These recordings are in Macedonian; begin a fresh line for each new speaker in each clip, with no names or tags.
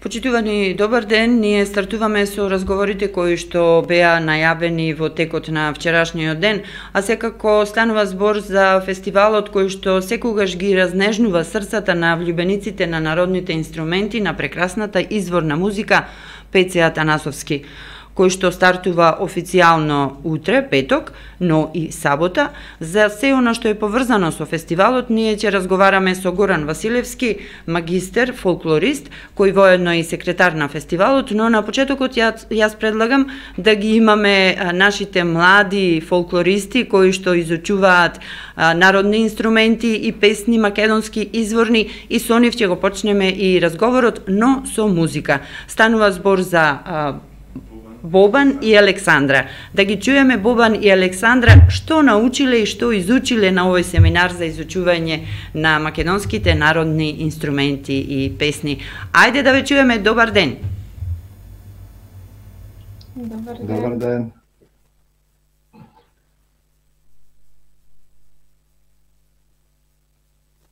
Почитувани, добар ден. Ние стартуваме со разговорите кои што беа најавени во текот на вчерашниот ден, а секако станува збор за фестивалот кој што секогаш ги разнежнува срцата на влюбениците на народните инструменти, на прекрасната изворна музика Пеце Атанасовски, кој што стартува официјално утре, петок, но и сабота. За се она што е поврзано со фестивалот, ние ќе разговараме со Горан Василевски, магистер, фолклорист, кој воедно и секретар на фестивалот, но на почетокот јас предлагам да ги имаме нашите млади фолклористи кои што изучуваат народни инструменти и песни македонски изворни, и со нив ќе го почнеме и разговорот, но со музика. Станува збор за Бобан и Александра. Да ги чуеме Бобан и Александра што научиле и што изучиле на овој семинар за изучување на македонските народни инструменти и песни. Ајде да ве чуеме. Добар ден.
Добар ден.
Добар ден.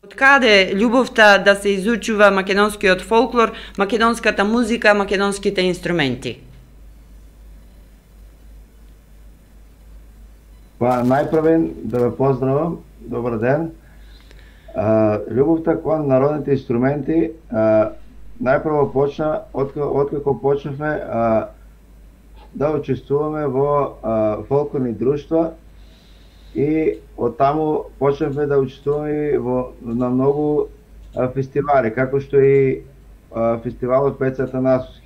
Од каде љубовта да се изучува македонскиот фолклор, македонската музика, македонските инструменти?
Па, најпрвен да ве поздравам, добар ден. Љубовта кон народните инструменти најпрво почна откако почнавме да учествуваме во фолклорни друштва и оттаму почнавме да учествуваме на многу фестивали, како што и фестивалот Пеце Атанасовски.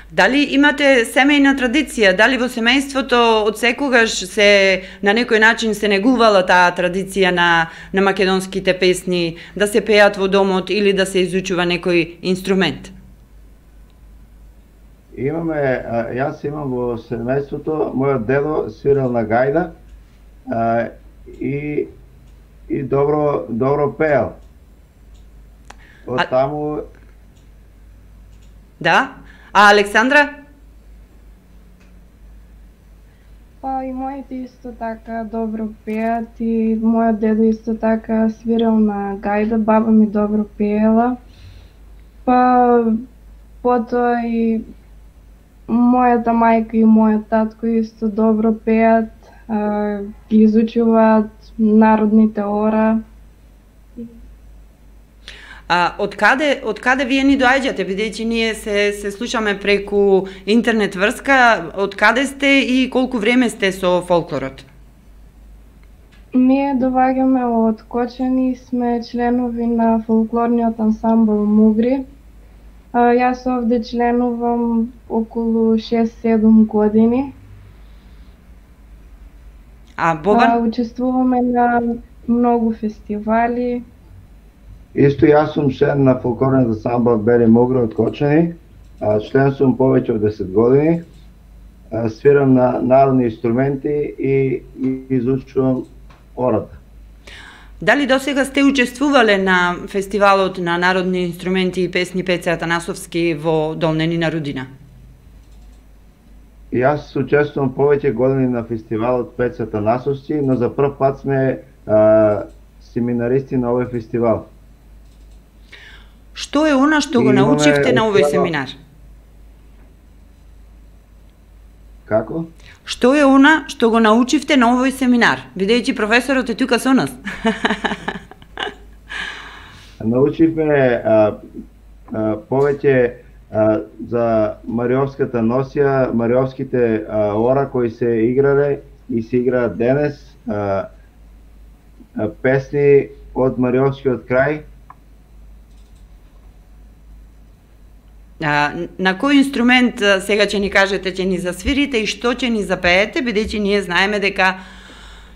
Дали имате семејна традиција? Дали во семејството од секогаш се на некој начин се негувала таа традиција на македонските песни, да се пеат во домот или да се изучува некој инструмент?
Јас имам во семејството, мојот дедо свирел на гајда и добро пеел. Од таму...
Да? А Александра?
Па и моите исто така добро пеат и мојот дедо исто така свирел на гајда, баба ми добро пеела. Па потоа и мојата мајка и мојот татко исто добро пеат, ги изучуваат народните ора.
Од каде вие ни доаѓате, бидејќи ние се слушаме преку интернет врска, од каде сте и колку време сте со фолклорот?
Ние доаѓаме од Кочани, сме членови на фолклорниот ансамбл Мугри. Јас овде членувам околу 6-7 години.
А Бобан?
Учествуваме на многу фестивали.
Исто јас сум член на фолклорниот ансамбл Бели Мугри од Кочани. Член сум повеќе од 10 години. Свирам на народни инструменти и изучувам ората.
Дали досега сте учествувале на фестивалот на народни инструменти и песни Пеце Атанасовски во Долненина Рудина?
Јас учествувам повеќе години на фестивалот Пеце Атанасовски, но за прв пат сме семинаристи на овој фестивал.
Што е она што го научивте на овој семинар?
Како?
Што е она што го научивте на овој семинар, бидејќи професорот е тука со нас?
Научивме повеќе за Мариовската носија, мариовските ора кои се играле и се играат денес, песни од Мариовскиот крај.
На кој инструмент сега ќе ни кажете, ќе ни засвирите и што ќе ни запеете, бидејќи ние знаеме дека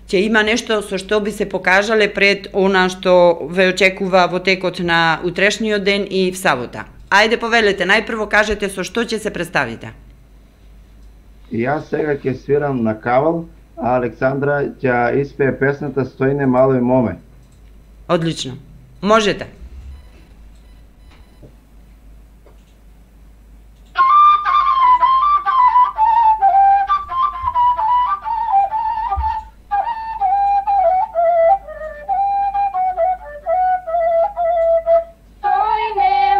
ќе има нешто со што би се покажале пред она што ве очекува во текот на утрешниот ден и в сабота. Ајде повелете, најпрво кажете со што ќе се представите.
Јас сега ќе свирам на кавал, а Александра ќе испее песната Стојне мало и моме.
Одлично. Можете.
Stoine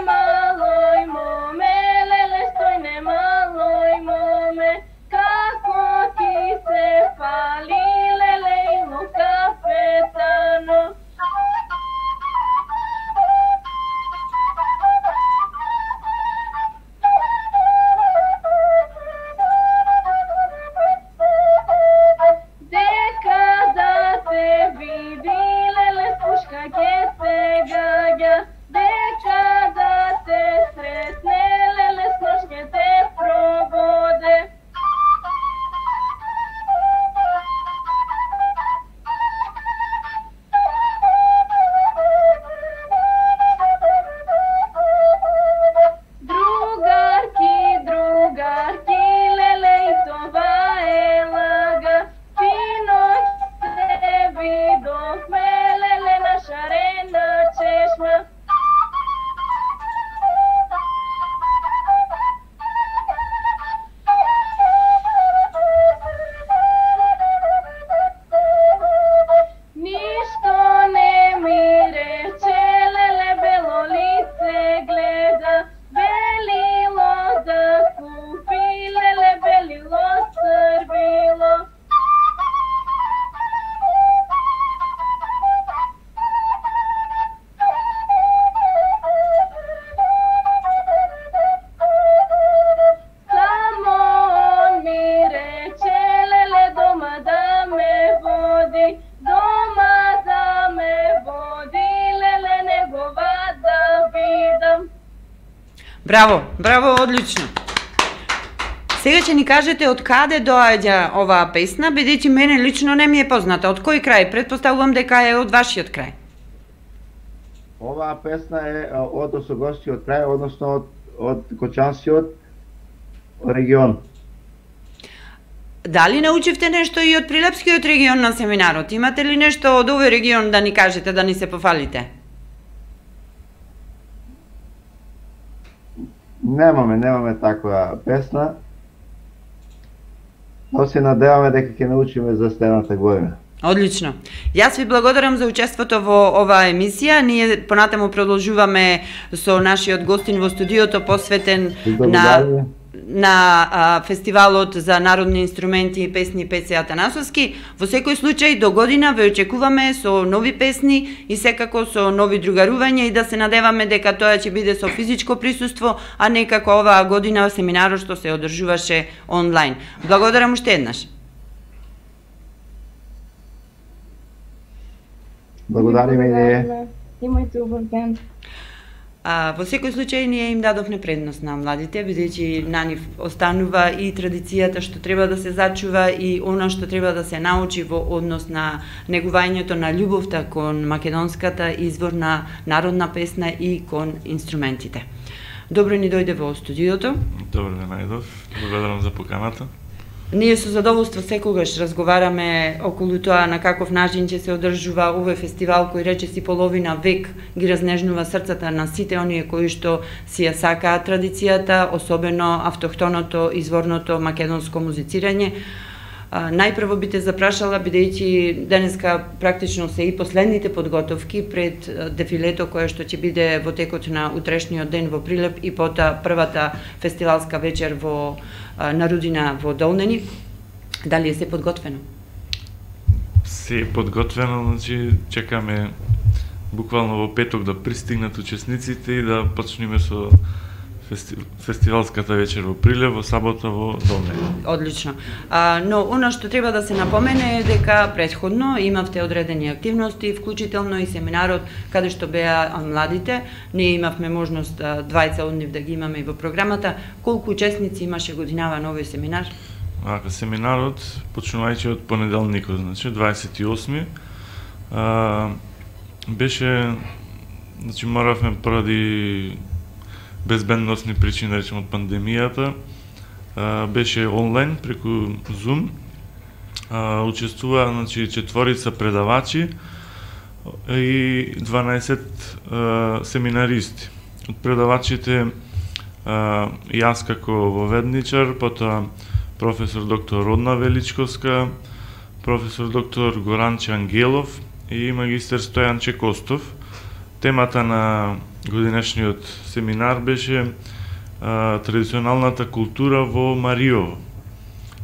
Браво, браво, одлично. Сега ќе ни кажете од каде доаѓа оваа песна, бидејќи мене лично не ми е позната. Од кој крај? Претпоставувам дека е од вашиот крај.
Оваа песна е од Осогорскиот крај, односно од Кочанскиот регион.
Дали научивте нешто и од Прилепскиот регион на семинарот? Имате ли нешто од овој регион да ни кажете, да ни се пофалите?
Немаме таква песна. Но се надеваме дека ќе научиме за следната година.
Одлично. Јас ви благодарам за учеството во оваа емисија. Ние понатаму продолжуваме со нашиот гостин во студиото посветен на фестивалот за народни инструменти и песни Пеце Атанасовски. Во секој случај до година ве очекуваме со нови песни и секако со нови другарувања и да се надеваме дека тоа ќе биде со физичко присуство, а не како оваа година семинарот што се одржуваше онлайн. Благодарам уште еднаш.
Благодариме и
имајте убав ден.
Во секој случај ние им дадовме предност на младите, бидејќи на нив останува и традицијата што треба да се зачува и она што треба да се научи во однос на негувањето на љубовта кон македонската изворна народна песна и кон инструментите. Добро ни дојде во студиото.
Добро ве најдов. Благодарам за поканата.
Ние со задоволство секогаш разговараме околу тоа на каков начин ќе се одржува овој фестивал кој речиси половина век ги разнежнува срцата на сите оние кои што си ја сакаат традицијата, особено автохтоното, изворното македонско музицирање. Најпрво би те запрашала, бидејќи денеска практично се и последните подготовки пред дефилето кое што ќе биде во текот на утрешниот ден во Прилеп и потоа првата фестивалска вечер во на Рудина во Долнени. Дали е се подготвено?
Се е подготвено, значи чекаме буквално во петок да пристигнат учесниците и да почнеме со фестивалската вечер во Прилеп, во сабота во Долнени.
Одлично. Но она што треба да се напомене е дека претходно имавте одредени активности, вклучително и семинарот каде што беа младите. Ние имавме можност двајца од нив да ги имаме и во програмата. Колку учесници имаше годинава на овој семинар?
Семинарот, почнувајќи од понеделникот, значи 28 беше, значи моравме поради безбедносни причини, да речем од пандемијата, беше онлайн преку Zoom. Учествува, значи, 4 предавачи и 12 семинаристи. Од предавачите јас како воведничар, потоа професор доктор Родна Величковска, професор доктор Горанче Ангелов и магистер Стојан Чекостов. Темата на годинешниот семинар беше традиционалната култура во Мариово.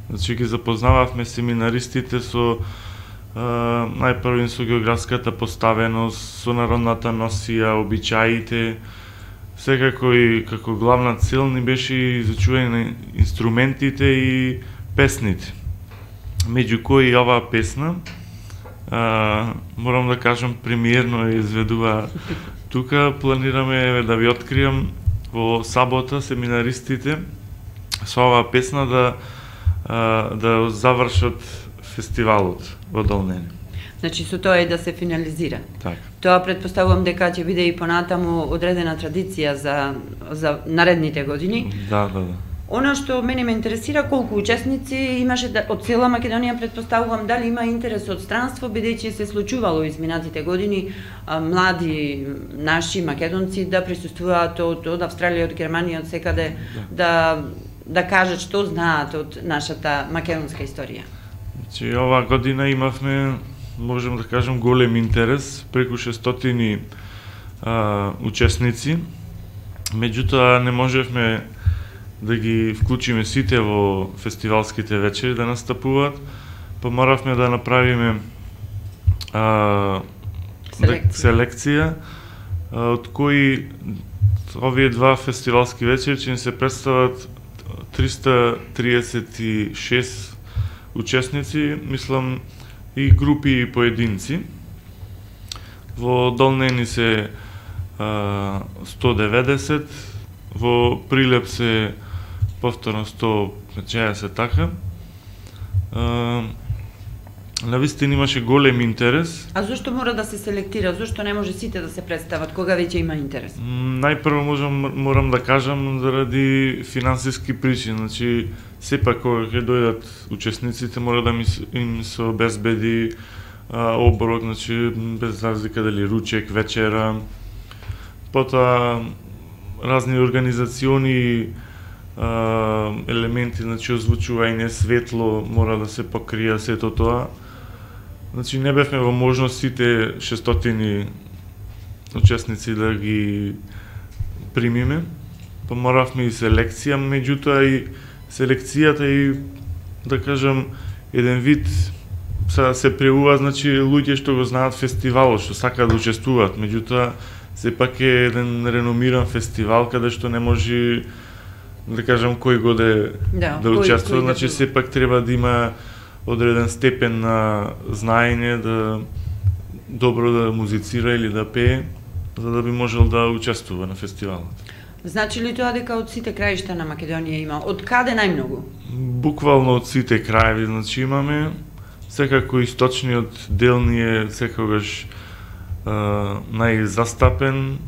Значи ги запознававме семинаристите со најпрво со географската поставеност, со народната носија, обичаите. Секако и како главна цел ни беше изучување на инструментите и песните. Меѓу кои оваа песна, морам да кажам, премиерно ја изведува тука. Планираме да ви откријам во сабота семинаристите со оваа песна да завршат фестивалот во Долнени.
Значи со тоа е да се финализира.
Така.
Тоа претпоставувам дека ќе биде и понатаму одредена традиција за наредните години.
Да.
Она што мене ме интересира, колку учесници имаше од цела Македонија, претпоставувам дали има интерес од странство, бидејќи се случувало изминатите години млади наши македонци да присуствуваат од Австралија, од Германија, од секаде да кажат што знаат од нашата македонска историја.
Значи оваа година имавме, можем да кажем, голем интерес, преку 600 учесници. Меѓутоа не можевме да ги вклучиме сите во фестивалските вечери да настапуваат, па моравме да направиме селекција, од кои овие два фестивалски вечери ќе ни се представат 336 учесници, мислам и групи и поединци. Во Долнени се 190 во Прилеп се повторно 150 така. Навистина имаше голем интерес.
А зошто мора да се селектира? Зошто не може сите да се представат кога веќе има интерес?
Најпрво морам да кажам заради финансиски причини. Значи, сепак кога ќе дојдат учесниците мора да им се обезбеди оброк, значи без разлика дали ручек, вечера, потоа разни организациони елементи, значи озвучување, светло мора да се покрија сето тоа. Значи не бевме во можност сите 600 учесници да ги примиме. Поморавме и селекција, меѓутоа и селекцијата и да кажам еден вид се преува, значи луѓе што го знаат фестивалот, што сакаат да учествуваат, меѓутоа сепак е еден реномиран фестивал каде што не може да кажам кој годе да учествува, значи сепак треба да има одреден степен на знаење, да добро да музицира или да пее, за да би можел да учествува на фестивалот.
Значи ли тоа дека од сите краишта на Македонија има? Од каде најмногу?
Буквално од сите краеви, значи имаме. Секако источниот дел ни е секогаш најзастапен.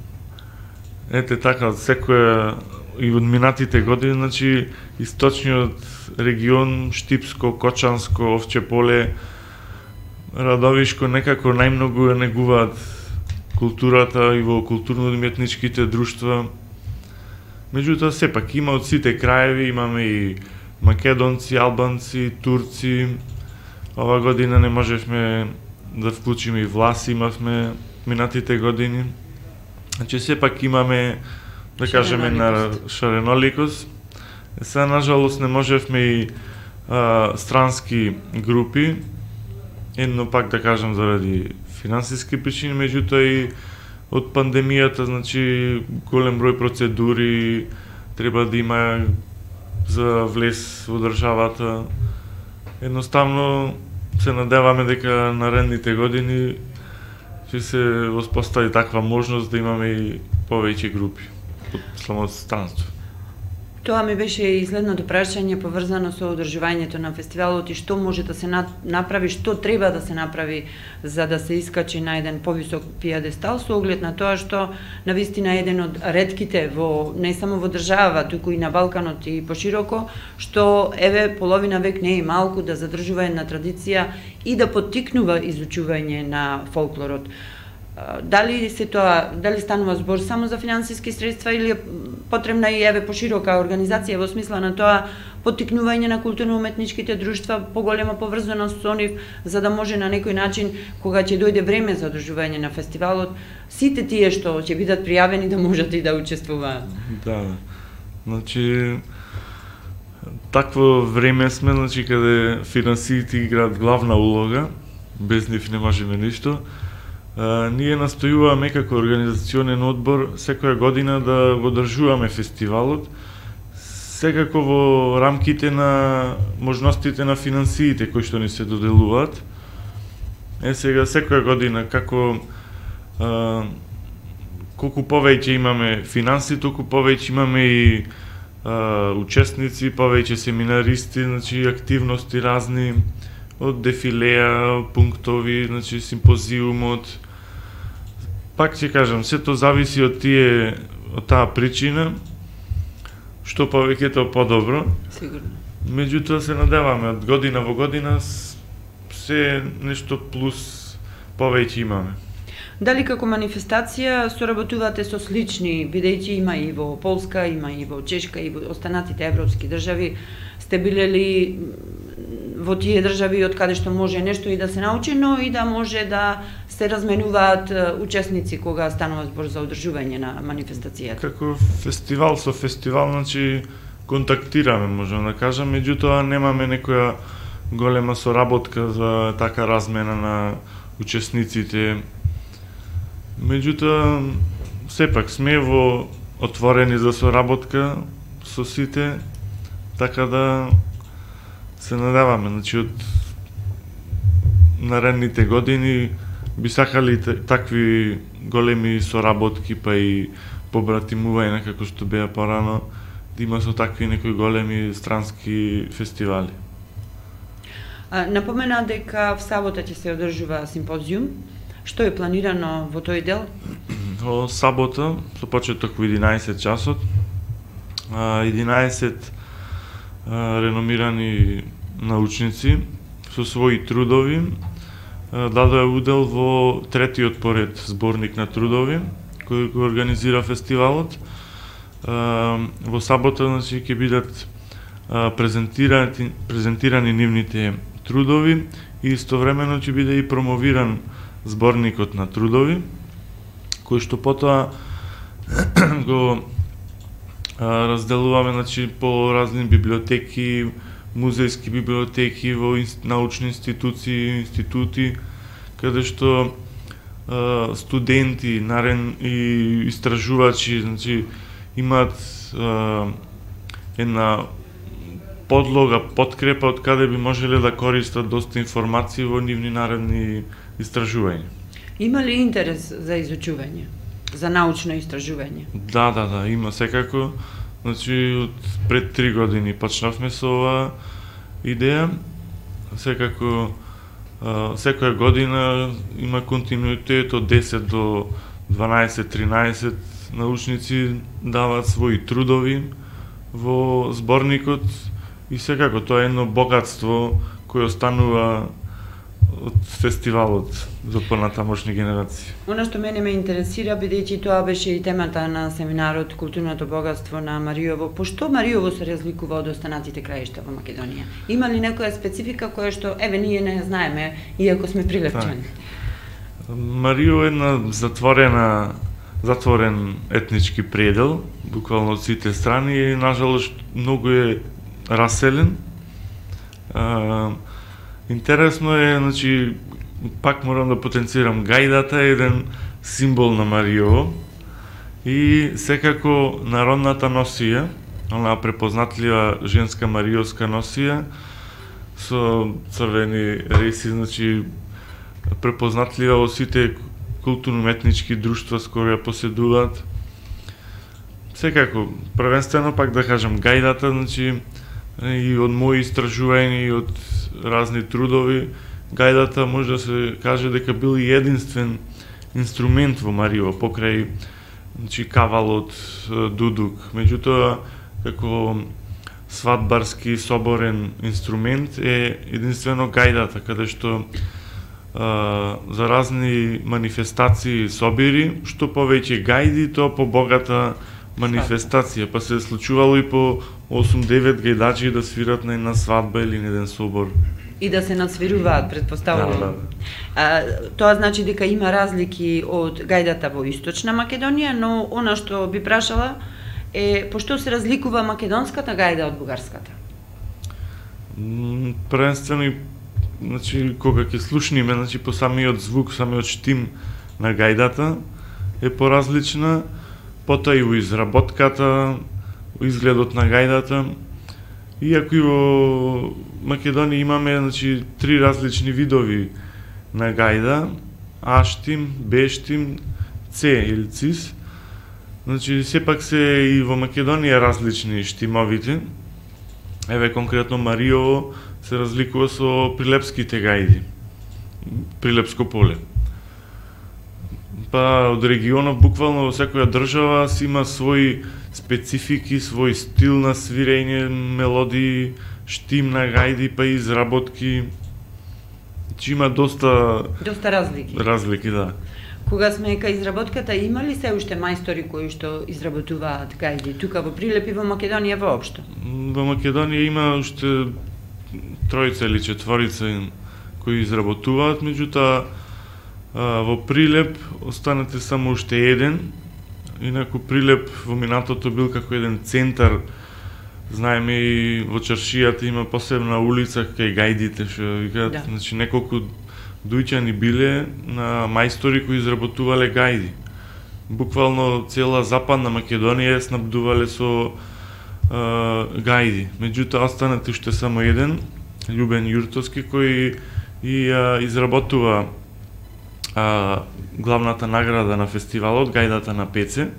Ете така, од секоја и од минатите години, значи источниот регион, Штипско, Кочанско, Овче поле, Радовишко некако најмногу ја негуваат културата и во културно-уметничките друштва. Меѓутоа сепак има од сите краеви, имаме и македонци, албанци, турци. Ова година не можевме да вклучиме и власи, имавме минатите години. Значи сепак имаме, да кажеме, на шареноликост. Сега, нажалост, не можевме и странски групи, едно пак да кажам заради финансиски причини, меѓутоа и од пандемијата, значи голем број процедури треба да има за влез во државата. Едноставно се надеваме дека наредните години ќе се воспостави таква можност да имаме и повеќе групи од самото странство.
Тоа ми беше и следното прашање поврзано со одржувањето на фестивалот и што може да се направи, што треба да се направи за да се искачи на еден повисок пиедестал, со оглед на тоа што навистина еден од ретките во не само во држава, туку и на Балканот и пошироко, што еве половина век не е малку да задржува една традиција и да поттикнува изучување на фолклорот. Дали станува збор само за финансиски средства или е потребна и еве поширока организација во смисла на тоа поттикнување на културно-уметничките друштва, поголема поврзаност со нив, за да може на некој начин, кога ќе дојде време за одржување на фестивалот, сите тие што ќе бидат пријавени да можат и да учествуваат.
Да, значи такво време сме, значи каде финансиите играат главна улога, без нив не можеме ништо. Ние настојуваме како организационен одбор секоја година да го одржуваме фестивалот, секако во рамките на можностите на финансиите кои што ни се доделуваат. Сега секоја година како колку повеќе имаме финанси, толку повеќе имаме и учесници, повеќе семинаристи, значи активности разни, од дефилеа, пунктови, значи симпозиумот. Пак ќе кажам, сето зависи од таа причина, што повеќе тоа подобро.
Сигурно.
Меѓутоа се надеваме од година во година се нешто плюс повеќе имаме.
Дали како манифестација соработувате со слични, бидејќи има и во Полска, има и во Чешка и во останатите европски држави, сте биле ли во тие држави од каде што може нешто и да се научи, но и да може да се разменуваат учесници кога станува збор за одржување на манифестацијата?
Како фестивал со фестивал, значи контактираме, можам да кажам, меѓутоа немаме некоја голема соработка за така размена на учесниците. Меѓутоа, сепак сме отворени за соработка со сите, така да се надеваме, значи од наредните години би сакали такви големи соработки, па и побратимување како што беа порано, да има со такви некои големи странски фестивали.
Напомена дека в сабота ќе се одржува симпозиум. Што е планирано во тој дел?
Во сабота, со почеток во 11 часот, 11 реномирани научници со своји трудови дадоа удел во третиот поред зборник на трудови кој го организира фестивалот. Во сабота, значи, ќе бидат презентирани нивните трудови и истовремено ќе биде и промовиран зборникот на трудови, кој што потоа го разделуваме, значи, по разни библиотеки, музејски библиотеки, во научни институции, институти, каде што студенти, и истражувачи, значи, имаат една подлога, подкрепа од каде би можеле да користат доста информации во нивни наредни истражувања.
Има ли интерес за изучување, за научно истражување?
Да, има секако. Значи, од пред 3 години почнавме со оваа идеја. Секако, секоја година има континуитет од 10 до 12-13 научници даваат своји трудови во зборникот и секако тоа е едно богатство кој останува од фестивалот за понатамошни генерации.
Она што мене ме интересира, бидејќи тоа беше и темата на семинарот Културното богатство на Маријово, пошто Маријово се разликува од останатите краишта во Македонија? Има ли некоја специфика која што ние не ја знаеме, иако сме прилепчани?
Маријово е една затворен етнички предел, буквално од сите страни и нажалост многу е раселен. Интересно е, значи, пак морам да потенцирам, гајдата е еден символ на Маријово и секако народната носија, онаа препознатлива женска маријовска носија со црвени реси, значи препознатлива во сите културно-етнички друштва с кои ја поседуваат. Секако, првенствено пак да кажам, гајдата, значи, и од мои истражувања и од разни трудови, гајдата може да се каже дека бил и единствен инструмент во Маријово, покрај, значи, кавалот, дудук. Меѓутоа, како свадбарски соборен инструмент е единствено гајдата, каде што за разни манифестации и собири, што повеќе гајди, тоа побогата манифестација, па се случувало и по 8-9 гајдачи да свират на една свадба или на еден собор.
И да се надсвируваат, предпоставувам.
Да.
Тоа значи дека има разлики од гајдата во Источна Македонија, но она што би прашала е пошто се разликува македонската гајда од бугарската?
Првенствено, значи, кога ќе слушниме, значи, по самиот звук, самиот штим на гајдата е поразлична, потоа и во изработката, во изгледот на гајдата. Иако и во Македонија имаме, значи, 3 различни видови на гајда: А штим, Б штим, С или цис. Значи, сепак се и во Македонија различни штимовите. Еве, конкретно Маријово се разликува со прилепските гајди, Прилепско поле. Па од регионов, буквално во секоја држава си има своји специфики, свој стил на свирење, мелодии, штим на гајди, па и изработки. Че има доста
разлики.
Разлики, да.
Кога сме кај изработката, има ли се уште мајстори кои што изработуваат гајди тука во Прилеп и во Македонија воопшто?
Во Македонија има уште 3 или 4 кои изработуваат, меѓутоа во Прилеп останете само уште еден. Инаку Прилеп во минатото бил како еден центар. Знаеме и во чаршијата има посебна улица кај гајдите, што викаат, да. Значи неколку дујќани биле на мајстори кои изработувале гајди. Буквално цела Западна Македонија снабдувале со гајди. Меѓутоа останете уште само еден, Љубен Јуртовски, кој и изработува главната награда на фестивалот, гајдата на Пеце,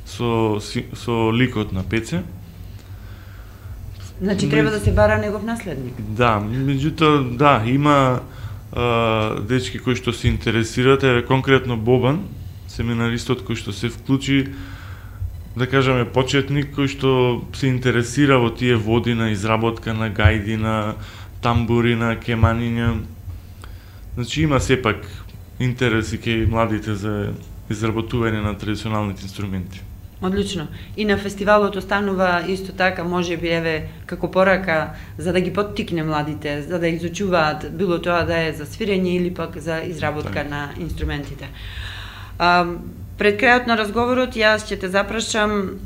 со ликот на Пеце.
Значи треба да се бара негов наследник.
Да, меѓутоа, да, има дечки кои што се интересираат, еве конкретно Бобан, семинаристот кој што се вклучи, да кажеме почетник кој што се интересира во тие води на изработка на гајди, на тамбури, на кеманиња. Значи има сепак интереси кај младите за изработување на традиционалните инструменти.
Одлично. И на фестивалот останува исто така, може би еве како порака за да ги поттикне младите, за да изучуваат било тоа да е за свирење или пак за изработка на инструментите. Пред крајот на разговорот јас ќе те запрашам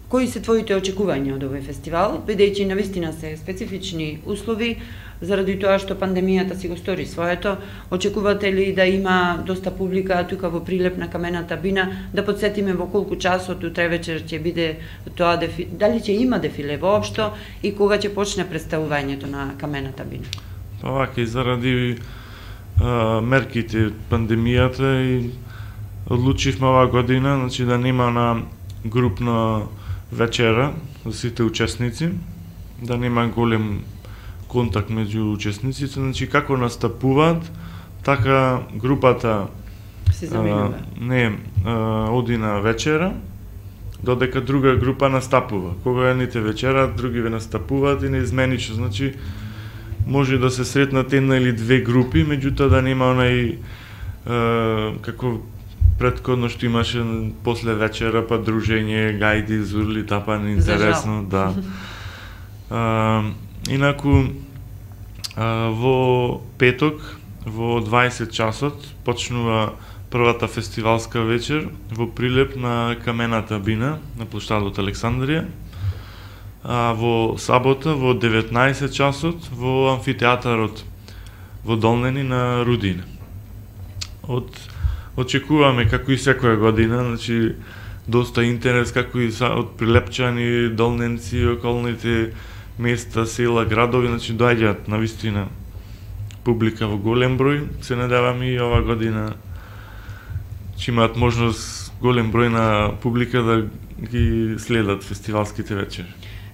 кои се твоите очекувања од овој фестивал, бидејќи навистина се специфични услови заради тоа што пандемијата си го стори своето. Очекувате ли да има доста публика тука во Прилеп на Камената бина? Да подсетиме во колку часот утре вечер ќе биде тоа дали ќе има дефиле воопшто и кога ќе почне представувањето на Камената бина?
Па вака и заради мерките пандемијата и одлучивме оваа година, значи да нема на групна вечера за сите учесници, да нема голем контакт меѓу учесниците, значи како настапуваат, така групата
се заменува.
Оди на вечера, додека друга група настапува. Кога едните вечерат, други ве настапуваат и неизменично, значи може да се сретнат една или две групи, меѓутоа да нема онај како претходно што имаше после вечера, па дружење, гајди, зурли, тапани, интересно, да. Инаку, во петок, во 20 часот, почнува првата фестивалска вечер во Прилеп на Камената бина, на плоштадот Александрија. А во сабота, во 19 часот, во амфитеатарот во Долнени на Рудина. Очекуваме, како и секоја година, значи, доста интерес, како и од прилепчани, долненци, околните места, села, градови, значи, доаѓаат навистина публика во голем број. Се надеваме и ова година ќе имаат можност голем број на публика да ги следат фестивалските вечери.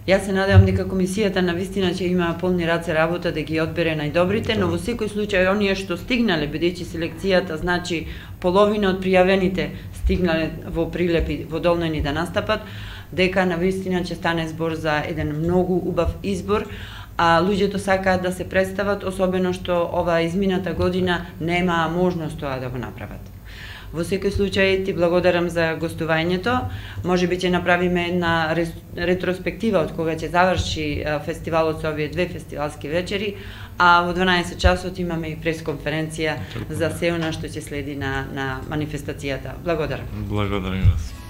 Јас се надевам дека комисијата навистина ќе има полни раце работа да ги одбере најдобрите, но во секој случај оние што стигнале, бидејќи селекцијата значи половина од пријавените стигнале во Прилеп и во Долнени да настапат, дека навистина ќе стане збор за еден многу убав избор, а луѓето сакаат да се представат, особено што ова измината година нема можност тоа да го направат. Во секој случај ти благодарам за гостувањето. Можеби ќе направиме една ретроспектива од кога ќе заврши фестивалот со овие две фестивалски вечери, а во 12 часот имаме и пресконференција за се она што ќе следи на манифестацијата. Благодарам.
Благодарам вас.